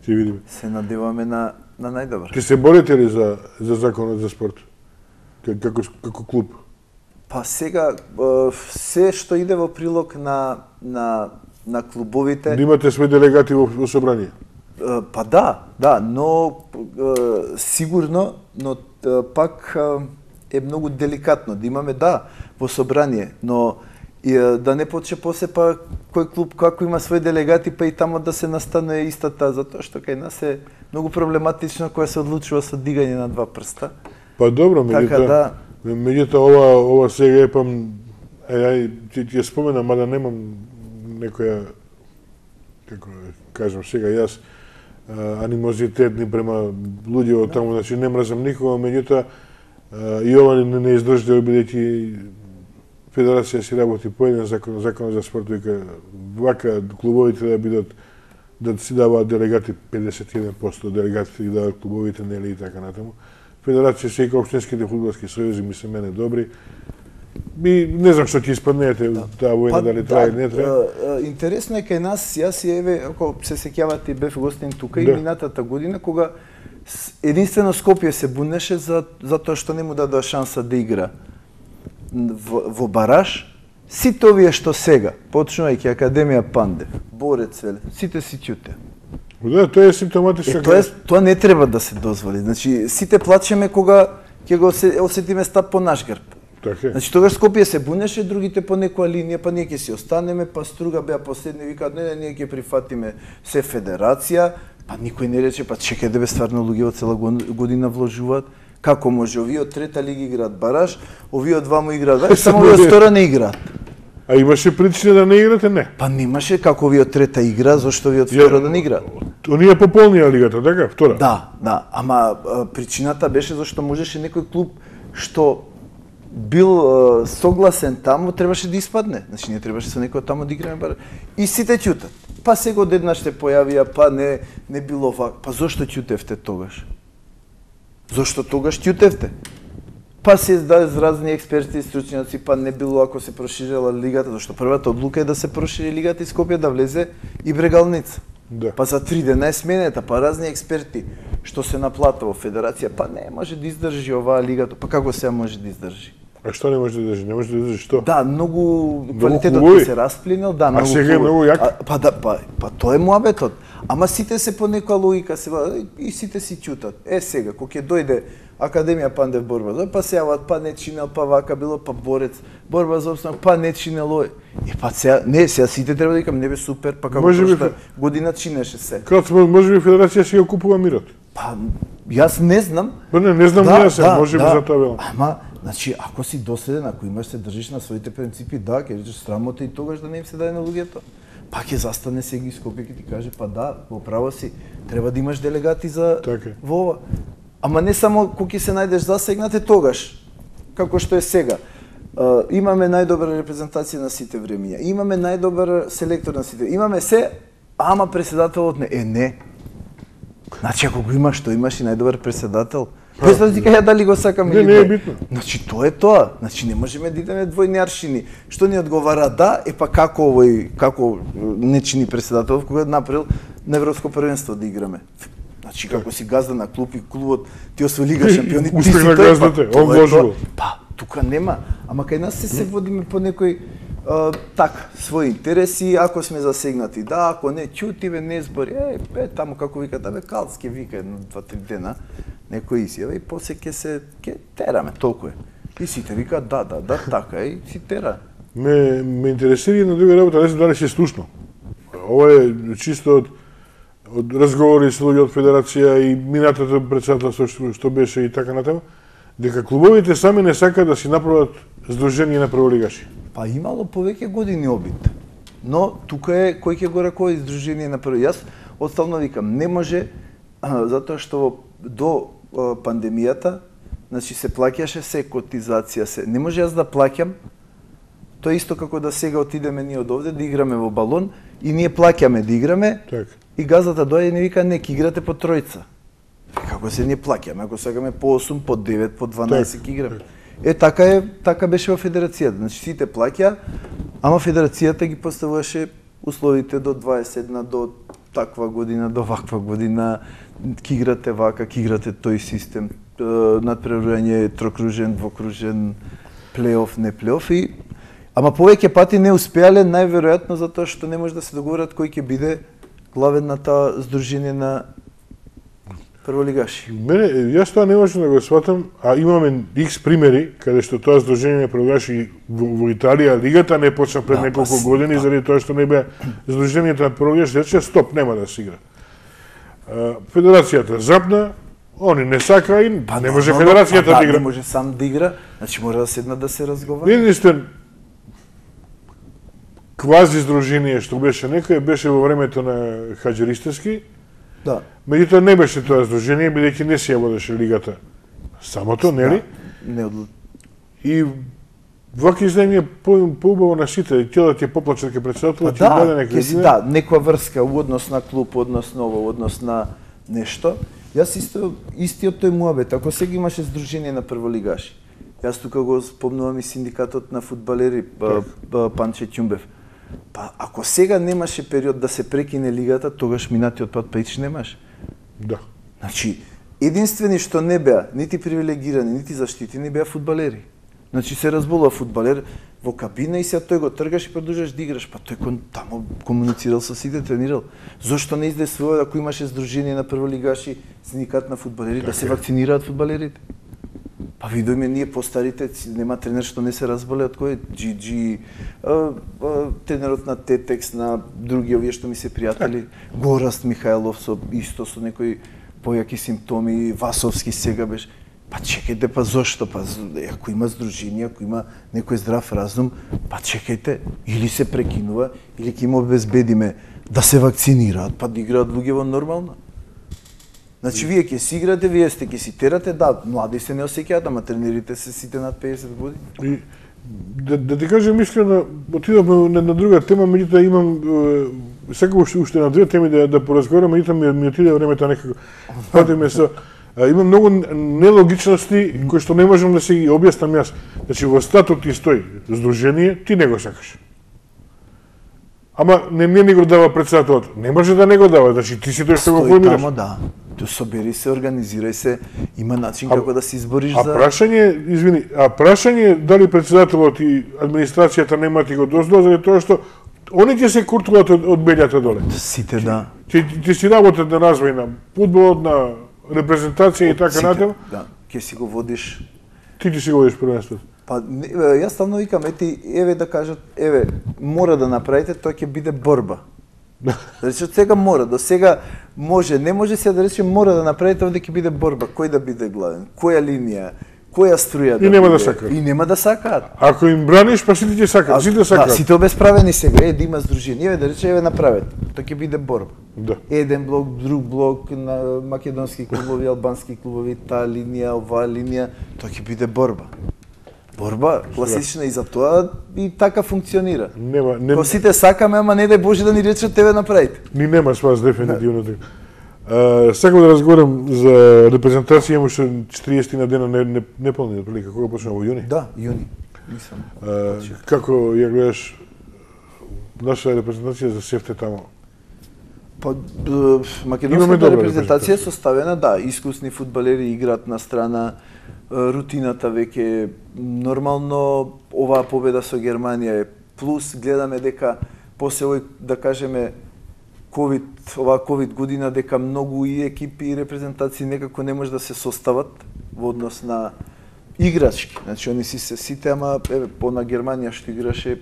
ќе видиме. Се надеваме на на најдобро. Ќе се борите ли за за законот за спорт? Како како клуб? Па сега се што иде во прилог на на на клубовите. Да имате свои делегати во, во собрание. Па да, да, но сигурно, но пак е многу деликатно да имаме да во собрание, но и да не почне после па кој клуб како има свои делегати па и тамо да се настане истата, затоа што кај нас е многу проблематично кога се одлучува со дигање на два прста. Па добро, меѓутоа, така, да. меѓутоа ова ова сега е па ај ти ти спомена, мада немам некоја како кажам сега јас анимозитет ни према луѓе од таму, значи не мразам никога, меѓутоа и ова не, не издржи бидејќи федерација си работи по еден закон, закон за спорт, вика вака клубовите да бидат да си даваат делегати педесет и еден проценти делегатите ги даваат клубовите, нели и така натаму. Федерација се и општинските фудбалски сојузи ми се мене добри. И не знам што ќе испаднете таа војна, дали трае или не трае. Интересно е кај нас, јас и еве, ако се сеќавате, бев гостин тука и минатата година кога единствено Скопје се бунеше за затоа што не му дадоа шанса да игра во, во бараж. Сите овие што сега, почнувајќи Академија Пандев, Борец Веле, сите си ќуте. Да, тоа е симптоматично. Е, тоа, е, тоа не треба да се дозволи. Значи, сите плачеме кога ќе го осетиме стап по наш грб. Така е. Значи, тогаш Скопје се бунеше, другите по некоја линија, па ние ќе си останеме, па Струга беа последни, викаат, не, не, ние ќе прифатиме се федерација, па никој не рече, па чекај да бе стварно луѓе од цела година вложуваат. Како може? Овие од трета лига играат бараж, овие од двамо играат бараж, само овие од втора не играат. А имаше причина да не играте? Не. Па немаше како овие од трета игра, зашто овие од втора да не играат. Оние пополнија лигата, така? Втора? Да, да, ама причината беше зашто можеше некој клуб што бил согласен таму, требаше да испадне. Значи не требаше со некој таму да играме бараж. И сите ќутат. Па сега одеднаш се појавија, па не не било вак. Па зошто ќутевте тогаш? Зошто тогаш ќутевте? Па се издаде разни експерти и стручњаци, па не било ако се проширила лигата, зашто првата одлука е да се прошири лигата и Скопје да влезе и Брегалница. Да. Па за три дена е сменета, па разни експерти што се наплата во федерација, па не може да издржи оваа лигата, па како сега може да издржи? А што не може да издржи? Не може да издржи што? Да, многу квалитетот ќе се расплинел, да, многу. А сега е многу јак. А, па да, па, па тоа е муабетот. Ама сите се по некоја логика се и сите си ќутат. Е сега кога ќе дојде Академија Пандев борба, па се јават, па не чинел, па вака било, па Борец, борба за опстанок, па не чинел ој. И па сега, не, сега сите треба да викам, не бе супер, па како прошта година чинеше се. Како може би федерација си ја купува мирот? Па јас не знам. Па не, не знам да, се, може би да, за тоа велам. Ама, значи, ако си доследен, ако имаш се држиш на своите принципи, да, ќе речеш срамота и тогаш да не им се даде на луѓето. Па ќе застане сега и Скопје ќе ти каже, па да, во право си, треба да имаш делегати за така. Во ова. Ама не само кога ќе се најдеш засегнате тогаш, како што е сега. Uh, имаме најдобра репрезентација на сите времиња. Имаме најдобар селектор на сите. Имаме се, ама преседателот не. Е, не. Значи, ако го имаш, што имаш и најдобар преседател, без да ти кажа дали го сакам или не. Не, не е битно. Значи, тоа е тоа. Значи, не можеме да идеме двојни аршини. Што ни одговара да, е па како овој, како не чини преседател, кога направил на Европско првенство да играме. Значи, како си газда на клуб и клубот ти освои Лига шампиони, ти си тој, газдате, па, он вложил. Па, тука нема. Ама кај нас се се водиме по некој а, така, своји интереси, ако сме засегнати, да, ако не ќутиве, не збори, е, е, таму како вика, да бе, Калски вика едно, два, три дена, некој изјава и после ќе се, ќе тераме, толку е. И сите вика, да, да, да, така е, и си тера. Ме, ме интересира една друга работа, не знам дали се слушно. Ова е чисто од од разговори со луѓе од федерација и минатата претседателство што, што беше и така натаму, дека клубовите сами не сакаат да си направат здружение на прволигаши. Па имало повеќе години обид. Но тука е кој ќе го раководи здружение на прво. Јас отставно викам, не може а, затоа што до а, пандемијата, значи се плаќаше се котизација се. Не може јас да плаќам. Тоа е исто како да сега отидеме ние од овде да играме во балон и ние плаќаме да играме. Так. И газата доаѓа и не вика не, ќе играте по тројца. Како се ние плаќаме, ако сакаме по осум, по девет, по дванаесет ќе играме. Е така е, така беше во федерацијата. Значи сите плаќа, ама федерацијата ги поставуваше условите до дваесет една, до таква година, до ваква година, ќе играте вака, ќе играте тој систем, надпреварување, трокружен, двокружен, плейоф, не плейоф и ама повеќе пати не успеале најверојатно затоа што не може да се договорат кој ќе биде главен на таа здружение на прволигаши. Мене, јас тоа не можам да го сватам, а имаме икс примери каде што тоа здружение на прволигаши во, во Италија, лигата не почна пред да, неколку па, години, да. Заради тоа што не беа здружението на прволигаши, рече стоп, нема да се игра. Федерацијата запна, они не сака и па, не може федерацијата па, да игра. Не може сам да игра, значи мора да седнат да се разговара. Единствен квази здружение што беше некој беше во времето на Хаџи Да. Меѓутоа не беше тоа здружение, бидејќи не се ја водеше лигата самото, нели? Да. Не од... И вака издање по поубаво на сите, ќе ќе поплачат ке председателот, ќе да, даде нека си, да, некоја врска у однос на клуб, однос на ово, однос на нешто. Јас исто истиот тој муабет, ако сега имаше здружение на прволигаши. Јас тука го спомнувам и синдикатот на фудбалери, Панче Ќумбев. Па ако сега немаше период да се прекине лигата, тогаш минатиот пат пејч немаше. Да. Значи, единствени што не беа нити привилегирани, нити заштитени беа фудбалери. Значи се разболува фудбалер во кабина и се тој го тргаш и продолжаш да играш, па тој кон тамо комуницирал со сите, тренирал. Зошто не издействува ако имаше здружение на прволигаши, синдикат на фудбалери да се вакцинираат фудбалерите? Па видоме ние постарите, нема тренер што не се разболе од кој Джиджи, тренерот на Тетекс, на други овие што ми се пријатели, Гораст Михајлов со исто со некои појаки симптоми, Васовски сега беше. Па чекајте, па зошто? Па ако има здружение, ако има некој здрав разум, па чекајте, или се прекинува, или ќе им обезбедиме да се вакцинираат, па да играат луѓе во нормално. Значи, вие ќе си играте, вие сте ќе си терате, да, млади се не осеќаат, ама тренерите се сите над педесет години. И, да, да ти кажем искрено, отидовме на, на друга тема, меѓутоа имам секако уште, уште на две теми да, да поразговарам, меѓутоа ми, ми отиде времето некако. Патиме со има многу нелогичности кои што не можам да се ги објаснам јас. Значи, во статут ти стои здружение, ти не го сакаш. Ама не не ни го дава председателот. Не може да не го дава, значи ти си тој што го формираш. Тамо, да. Ту собери се, организирај се, има начин а, како да се избориш а за... А прашање, извини, а прашање дали председателот и администрацијата немаат и го дозвола заради тоа што они ќе се куртуваат од, од бељата доле. Сите, да. Ти, ти си работат на развој на фудбалот, на репрезентација и така натаму. Да, ќе си го водиш. Ти ќе си го водиш првенството. Па јас стално викам, ети, еве да кажат, еве, мора да направите, тоа ќе биде борба. Да рече, сега мора, до сега може, не може се да рече мора да направите, овде ќе биде борба, кој да биде главен, која линија, која струја да и нема биде, да сакаат. И нема да сакаат. Ако им браниш, па сите ќе сакаат, сите сакаат. Да, сите обесправени сега, е да има здружение, еве да рече, еве направете, тоа ќе биде борба. Да. Еден блок, друг блок, на македонски клубови, албански клубови, таа линија, оваа линија, тоа ќе биде борба. Борба, класична и за тоа и така функционира. Нема, не... Ко сите сакаме, ама не дај Боже да ни речат тебе направите. Ни нема спас дефинитивно така. Uh, сакам да разговарам за репрезентација, имаше четириесет на дена не, не, неполни, прилика, кога почнува во јуни? Да, јуни. Мислам. Uh, како ја гледаш наша репрезентација за севте тамо? Па, македонската репрезентација е составена, да, искусни фудбалери играат на страна, рутината веќе нормално, оваа победа со Германија е плюс, гледаме дека после овој, да кажеме, ковид, оваа ковид година, дека многу и екипи и репрезентации некако не може да се состават во однос на играчки. Значи, они си се сите, ама еве, по на Германија што играше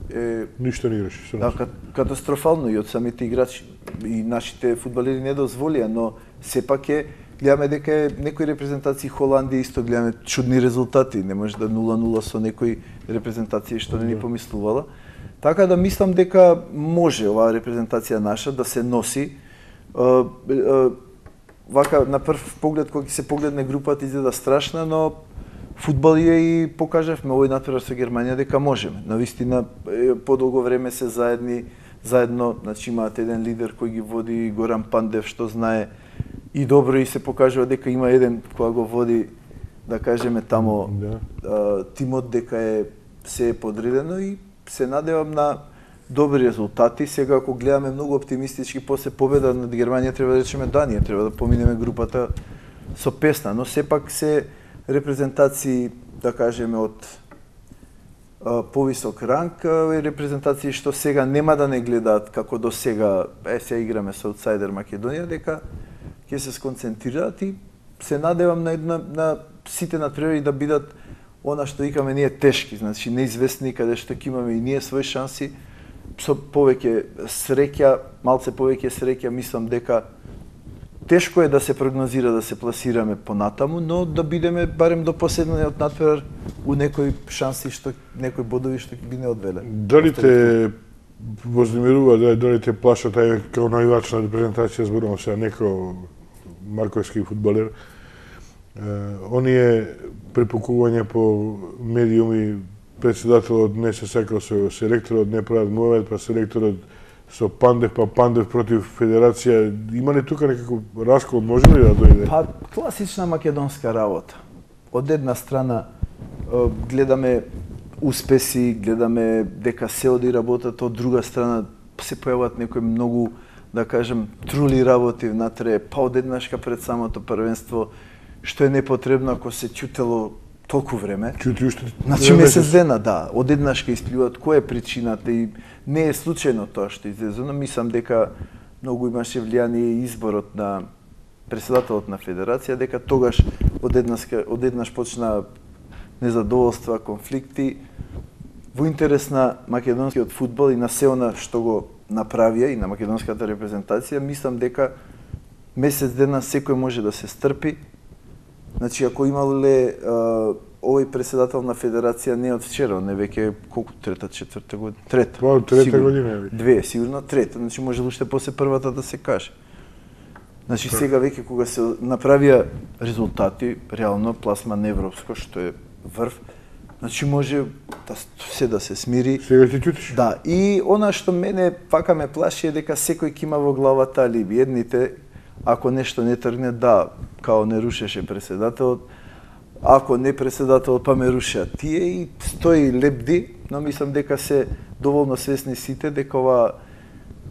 е... Ништо не играше. Да, катастрофално и од самите играчи. И нашите фудбалери не дозволија, но сепак е, гледаме дека е некои репрезентации Холандија исто гледаме чудни резултати, не може да нула нула со некои репрезентации што не ни помислувала. Така да мислам дека може оваа репрезентација наша да се носи. Вака на прв поглед кога ќе се погледне групата изгледа страшна, но фудбал е и покажавме овој натпревар со Германија дека можеме. Навистина подолго време се заедни, заедно, значи имаат еден лидер кој ги води, Горан Пандев, што знае и добро и се покажува дека има еден кој го води, да кажеме тамо, да. Тимот дека е се е подредено и се надевам на добри резултати. Сега ако гледаме многу оптимистички после победа над Германија, треба да речеме да, ние треба да поминеме групата со песна, но сепак се репрезентации, да кажеме, од а, повисок ранг, и репрезентации што сега нема да не гледаат како до сега, е, се играме со аутсайдер Македонија, дека ќе се сконцентрираат и се надевам на една, на сите натпревари да бидат она што викаме ние тешки, значи неизвестни, каде што ќе имаме и ние своји шанси, со повеќе среќа, малце повеќе среќа, мислам дека тешко е да се прогнозира да се пласираме понатаму, но да бидеме барем до последниот натпревар у некои шанси што некои бодови што ги не одвеле. Дали те вознемирува, дали, дали те плашат ај како највач на репрезентација, зборувам се неко марковски фудбалер, оние препукување по медиуми председателот не се сакал со селекторот, не прават мувамент, па селекторот со Пандев, па Пандев против Федерација. Има ли тука некако раскол, може ли да дојде? Па, класична македонска работа. Од една страна гледаме успеси, гледаме дека се оди работата, од друга страна се појават некои многу, да кажем, трули работи внатре, па одеднашка пред самото првенство, што е непотребно ако се ќутело толку време. Чути уште. Значи месец дена, да, одеднашка испливат која е причината и не е случајно тоа што излезе, но мислам дека многу имаше влијание изборот на председателот на Федерација, дека тогаш одеднаш одеднаш почна незадоволства, конфликти во интерес на македонскиот фудбал и на се она што го направија и на македонската репрезентација. Мислам дека месец дена секој може да се стрпи. Значи, ако имале овој председател на Федерација не од вчера, не веќе колку трета, четврта година, трета. Па, трета година. Две, сигурно трета, значи може уште после првата да се каже. Значи сега веќе кога се направија резултати, реално пласман европско, што е врв, значи може да се да се смири. Сега ти чутиш? Да, и она што мене пака ме плаши е дека секој ќе има во главата алиби. Едните, ако нешто не тргне, да, као не рушеше председателот, ако не председателот, па ме рушеа тие и стои лепди, но мислам дека се доволно свесни сите дека ова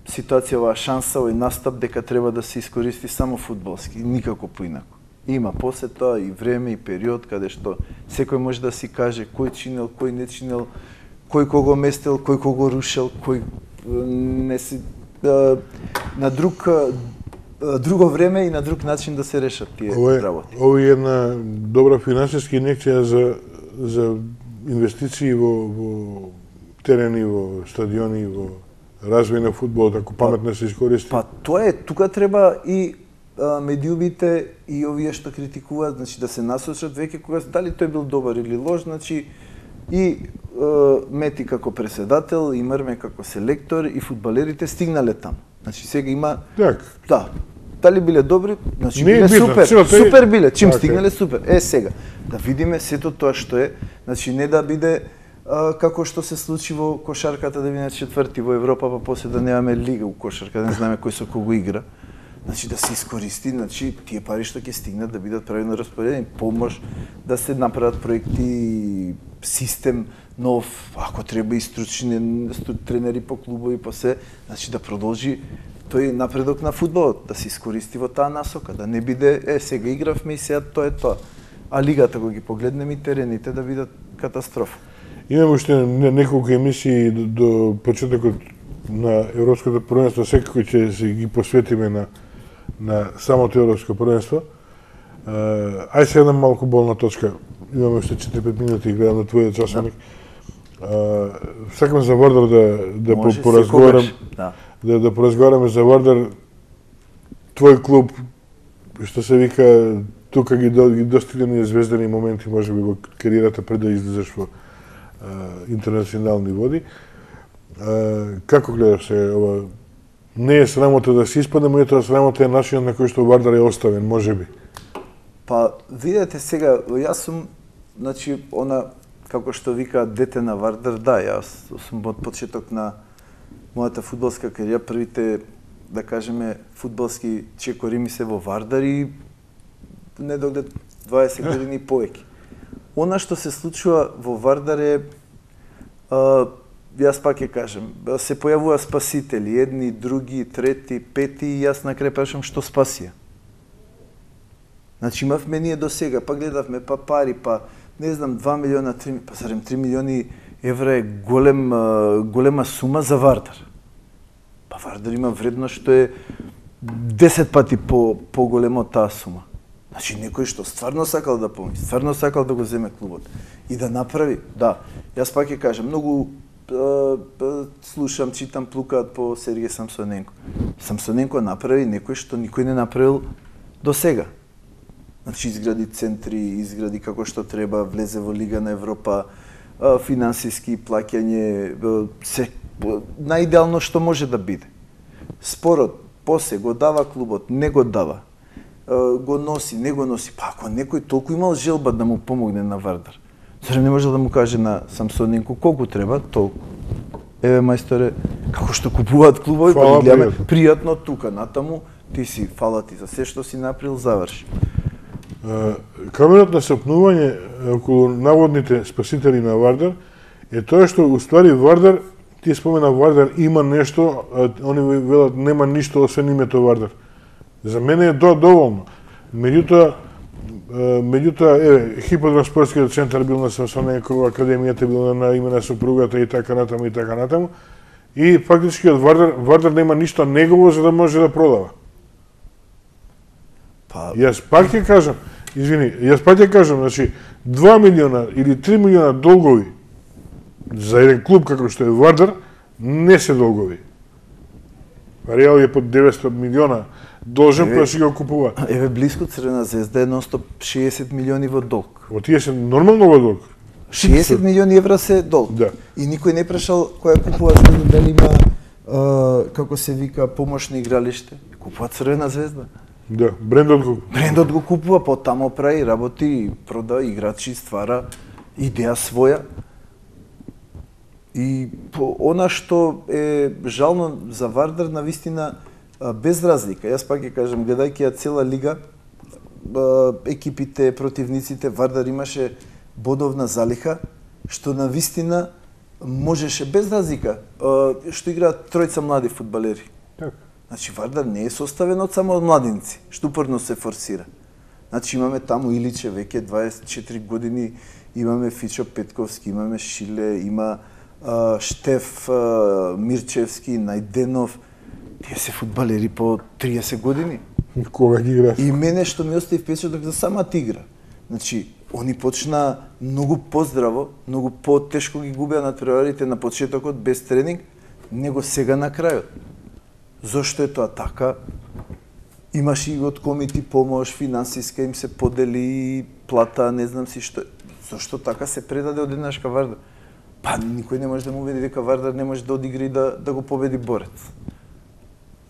ситуација, оваа шанса, овој настап дека треба да се искористи само фудбалски, никако поинако. Има после тоа и време и период каде што секој може да си каже кој чинел, кој не чинел, кој кого местел, кој кого рушел, кој не си на друг друго време и на друг начин да се решат тие работи. Ова е една добра финансиска инекција за за инвестиции во во терени, во стадиони, во развој на фудбалот, ако паметно се искористи. Па тоа е, тука треба и а, медиумите и овие што критикуваат, значи да се насочат веќе кога дали тој бил добар или лош, значи и а, Мети како председател, и Мрме како селектор, и фудбалерите стигнале таму. Значи сега има Так. Да. Дали биле добри, значи не биле битно, супер. тој... Супер биле, чим так, стигнале супер. Е сега да видиме сето тоа што е, значи не да биде а, како што се случи во кошарката да биде четврти во Европа, па после да немаме лига у кошарка, да не знаеме кој со кого игра. Значи да се искористи, значи тие пари што ќе стигнат да бидат правилно распоределени, помош да се направат проекти, систем нов, ако треба и стручни тренери по клубови, по се, значи да продолжи тој напредок на фудбалот, да се искористи во таа насока, да не биде, е, сега игравме и сега тоа е тоа. А лигата, кога ги погледнеме и терените, да бидат катастрофа. Имаме уште неколку емисии до, до почетокот на Европското првенство, секако ќе се ги посветиме на на самото Европско првенство. Ај се една малку болна точка. Имаме уште четири-пет минути и гледам на твојот часовник. Да. Сакам за Вардар да да Може, поразговарам. Да. Да да поразговараме за Вардар. Твој клуб, што се вика, тука ги, ги достигнани звездани моменти, може би во кариерата пред да излезеш во а, интернационални води. А, како гледаш се ова? Не е срамота да се испадне, меѓутоа срамота е начинот на кој што Вардар е оставен, можеби. Па, видете сега, јас сум, значи, она, како што вика дете на Вардар, да, јас сум од почеток на мојата фудбалска кариера, првите, да кажеме, фудбалски чекори ми се во Вардар и недоглед дваесет години повеќе. Она што се случува во Вардар е, а, јас пак ќе кажем, се појавува спасители, едни, други, трети, пети, и јас на крај прашам што спасија. Значи имавме ние до сега, па гледавме, па пари, па не знам, два милиона, три, па зарем три милиони евра е голем, голема сума за Вардар. Па Вардар има вредност што е десет пати по, по-големо таа сума. Значи некој што стварно сакал да помисли, стварно сакал да го земе клубот и да направи, да, јас пак ќе кажам, многу слушам, читам, плукаат по Сергеј Самсоненко. Самсоненко направи некој што никој не направил до сега. Значи изгради центри, изгради како што треба, влезе во Лига на Европа, финансиски плаќање, се најидеално што може да биде. Спорот, после го дава клубот, не го дава, го носи, не го носи. Па ако некој толку имал желба да му помогне на Вардар, Зарем не може да му каже на Самсоненко колку треба, толку. Еве мајсторе, како што купуваат клубови, па ги гледаме пријатно тука, натаму, ти си, фала ти за се што си направил, заврши. Каменот на сопнување околу наводните спасители на Вардар е тоа што уствари Вардар, ти спомена Вардар има нешто, они велат нема ништо освен името Вардар. За мене е тоа доволно. Меѓутоа, меѓутоа, еве, хипотранспортскиот центар бил на Самсоненко, академијата била на име на сопругата и така натаму и така натаму. И фактички од Вардар, Вардар нема ништо негово за да може да продава. Па... Јас пак ќе кажам, извини, јас пак ќе кажам, значи, два милиона или три милиона долгови за еден клуб како што е Вардар, не се долгови. Реал е под деветстотини милиона должен па си го купува. Еве блиску Црвена звезда е нонстоп шеесет милиони во долг. Во тие се нормално во долг. шеесет милиони евра се долг. Да. И никој не прашал која купува, не знам дали има а, како се вика помошно игралиште. Купува Црвена звезда. Да, брендот го. Брендот го купува, потамо прави, работи, прода, играчи, ствара идеја своја. И по она што е жално за Вардар, навистина, без разлика. Јас пак ќе кажам, гледајќи ја цела лига, екипите, противниците, Вардар имаше бодовна залиха, што навистина можеше без разлика, што играат тројца млади фудбалери. Так. Значи Вардар не е составен од само од младинци, што упорно се форсира. Значи имаме таму Иличе веќе дваесет и четири години, имаме Фичо Петковски, имаме Шиле, има Uh, Штеф uh, Мирчевски, Најденов, тие се фудбалери по триесет години. Кога ги играш? И мене што ми остави впечаток за самата игра. Значи, они почна многу поздраво, многу потешко ги губеа натпреварите на почетокот без тренинг, него сега на крајот. Зошто е тоа така? Имаш и од комити помош, финансиска им се подели, плата, не знам си што. Зошто така се предаде од еднашка Вардар? Па никој не може да му убеди дека Вардар не може да одигра и да, да го победи борец.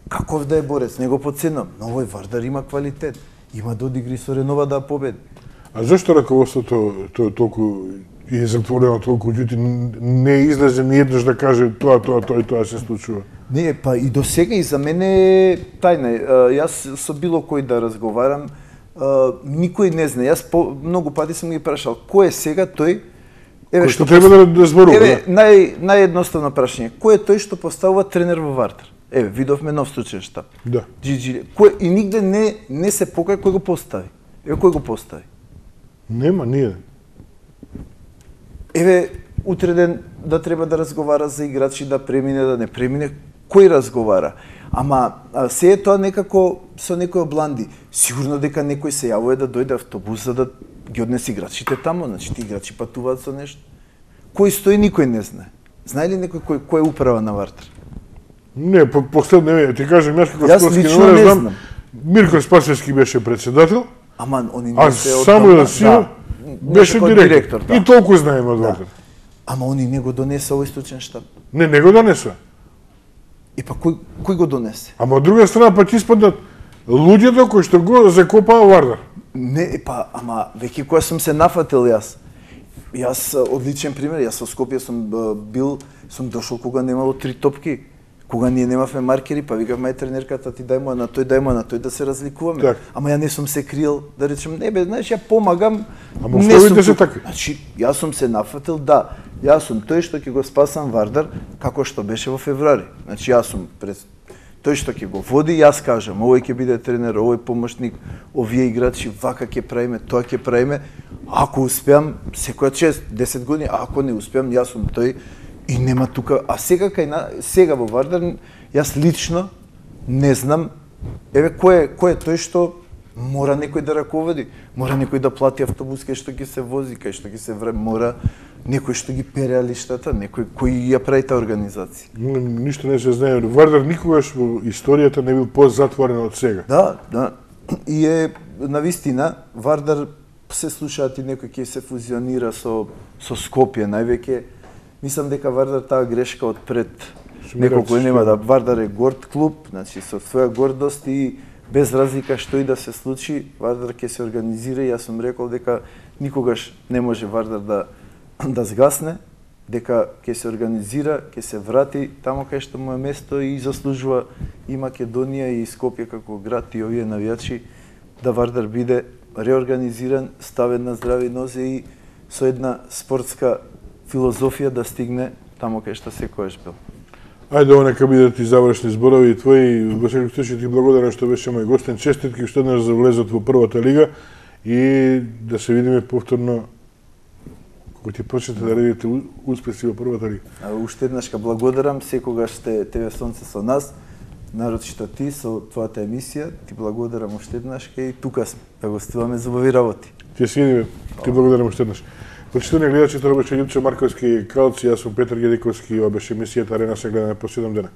Каков да е борец, не го подценам, но овој Вардар има квалитет. Има да одигри со Ренова да победи. А зашто раководството тоа толку е затворено толку ѓути не излезе ни еднаш да каже тоа, тоа, тоа и тоа се случува? Не, па и до сега и за мене е тајна. Јас со било кој да разговарам, никој не знае. Јас по, многу пати сум ги прашал кој е сега тој. Еве што треба да, да зборува. Еве нај наједноставно прашање. Кој е тој што поставува тренер во Вардар? Еве видовме нов случај штаб. Да. Джиджи. Кој и нигде не не се покаја кој го постави. Еве кој го постави? Нема ние. Еве утре ден да треба да разговара за играчи, да премине, да не премине, кој разговара? Ама се е тоа некако со некој обланди. Сигурно дека некој се јавува да дојде автобус за да ги однесе играчите таму, значи ти играчи патуваат со нешто. Кој стои никој не знае. Знае ли некој кој кој е управа на Вардар? Не, по последно не, ти кажам јас како јас спортски лично не знам. Мирко Спасевски беше председател. Ама они не се од само да си да, беше директор. директор да. И толку знаеме од Вардар. Да. Ама они не го донесе овој случен штаб. Не, не го донесе. И па кој кој го донесе? Ама од друга страна па ќе испаднат луѓето кои што го закопаа Вардар. Не, па, ама веќе кога сум се нафатил јас, јас одличен пример, јас во Скопје сум бил, сум дошол кога немало три топки, кога ние немавме маркери, па викав мај тренерката ти дај му на тој, дај му на тој да се разликуваме. Так. Ама ја не сум се криел, да речем, не бе, знаеш, ја помагам. Ама условите се така. Значи, јас сум се нафатил, да, јас сум тој што ќе го спасам Вардар, како што беше во февруари. Значи, јас сум пред тој што ќе го води, јас кажам, овој ќе биде тренер, овој помошник, овие играчи, вака ќе правиме, тоа ќе правиме. Ако успеам, секоја шест десет години, ако не успеам, јас сум тој и нема тука. А сега кај на сега во Вардар, јас лично не знам, еве кој е кој е тој што мора некој да раководи, мора некој да плати автобус кај што ќе се вози, кај што ќе се вре, мора некој што ги пере лиштата, некој кој ја прави таа организација. Ништо не се знае. Вардар никогаш во историјата не бил позатворен од сега. Да, да. И е навистина Вардар се слушаат и некој ќе се фузионира со со Скопје највеќе. Мислам дека Вардар таа грешка од пред неколку нема да Вардар е горд клуб, значи со своја гордост и без разлика што и да се случи, Вардар ќе се организира и јас сум рекол дека никогаш не може Вардар да да згасне, дека ќе се организира, ќе се врати тамо кај што му е место и заслужува и Македонија и Скопје како град и овие навијачи да Вардар биде реорганизиран, ставен на здрави нозе и со една спортска филозофија да стигне тамо кај што секојаш бил. Ајде, ова нека бидат и завршни зборови твои. Во секој случај ти благодарам што беше мој гостен. Честитки уште еднаш за влезот во првата лига и да се видиме повторно кога ти почнете да редите успеси во првата лига. А уште еднаш ка благодарам, секогаш сте ТВ Сонце со нас, нарочито ти со твојата емисија. Ти благодарам уште еднаш и тука сме да гостуваме за убави работи. Ти се видиме. Ти благодарам уште еднаш. Почитувани гледачи, тоа беше Љупчо Марковски Кралци, јас сум Петар Гедиковски, ова беше емисијата Арена се гледа на по седум дена.